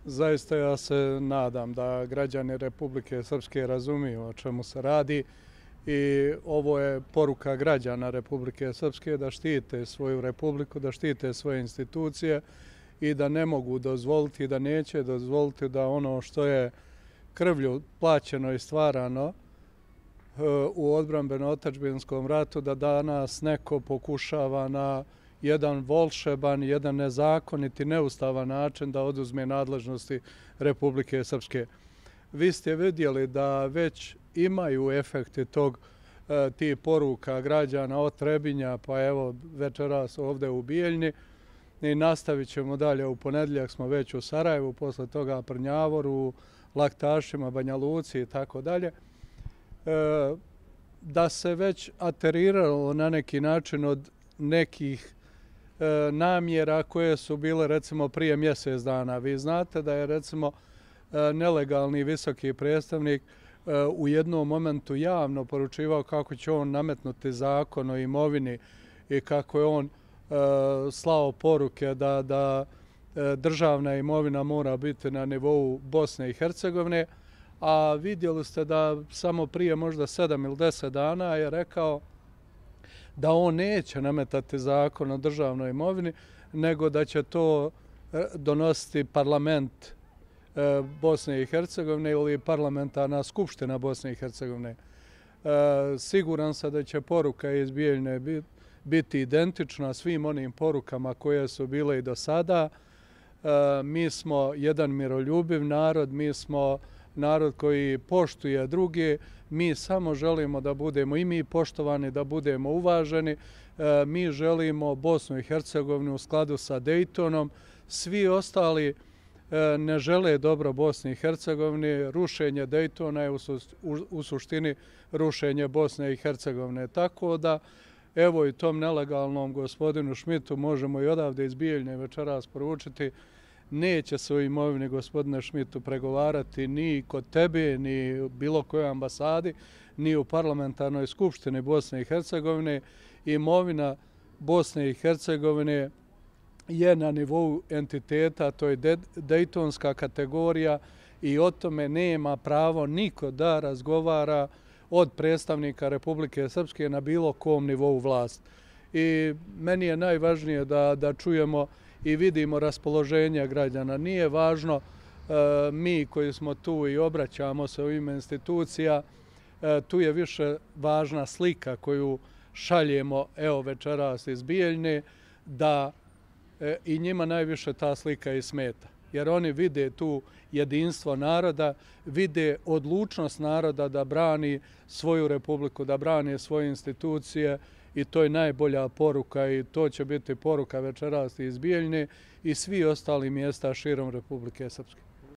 Zaista ja se nadam da građani Republike Srpske razumiju o čemu se radi i ovo je poruka građana Republike Srpske da štite svoju republiku, da štite svoje institucije i da ne mogu dozvoliti, da neće dozvoliti da ono što je krvlju plaćeno i stvarano u odbrambeno-otadžbinskom ratu, da danas neko pokušava na jedan volšeban, jedan nezakonit i neustavan način da oduzme nadležnosti Republike Srpske. Vi ste vidjeli da već imaju efekti tih poruka građana od Trebinja, pa evo večeras ovdje u Bijeljni i nastavit ćemo dalje. U ponedjeljak smo već u Sarajevu, posle toga Prnjavoru, Laktašima, Banja Luci i tako dalje. Da se već ateriralo na neki način od nekih namjera koje su bile recimo prije mjesec dana. Vi znate da je recimo nelegalni visoki predstavnik u jednom momentu javno poručivao kako će on nametnuti zakon o imovini i kako je on slao poruke da državna imovina mora biti na nivou Bosne i Hercegovine, a vidjeli ste da samo prije možda 7 ili 10 dana je rekao da on neće nametati zakon o državnoj imovini, nego da će to donositi parlament Bosne i Hercegovine ili parlamentarna skupština Bosne i Hercegovine. Siguran sam da će poruka iz Bijeljne biti identična svim onim porukama koje su bile i do sada. Mi smo jedan miroljubiv narod, mi smo narod koji poštuje druge, mi samo želimo da budemo i mi poštovani, da budemo uvaženi. Mi želimo Bosnu i Hercegovinu u skladu sa Dejtonom. Svi ostali ne žele dobro Bosni i Hercegovini. Rušenje Dejtona je u suštini rušenje Bosne i Hercegovine. Tako da, evo i tom nelegalnom gospodinu Šmitu možemo i odavde iz Bijeljne večeras poručiti: neće se o imovini, gospodine Šmitu, pregovarati ni kod tebe, ni u bilo kojoj ambasadi, ni u parlamentarnoj skupštini Bosne i Hercegovine. Imovina Bosne i Hercegovine je na nivou entiteta, to je dejtonska kategorija i o tome nema pravo niko da razgovara od predstavnika Republike Srpske na bilo kom nivou vlasti. I meni je najvažnije da čujemo i vidimo raspoloženje građana. Nije važno mi koji smo tu i obraćamo se u ime institucija, tu je više važna slika koju šaljemo evo večeras iz Bijeljne, da i njima najviše ta slika i smeta. Jer oni vide tu jedinstvo naroda, vide odlučnost naroda da brani svoju republiku, da brani svoje institucije, i to je najbolja poruka i to će biti poruka večeras iz Bijeljne i svi ostali mjesta širom Republike Srpske.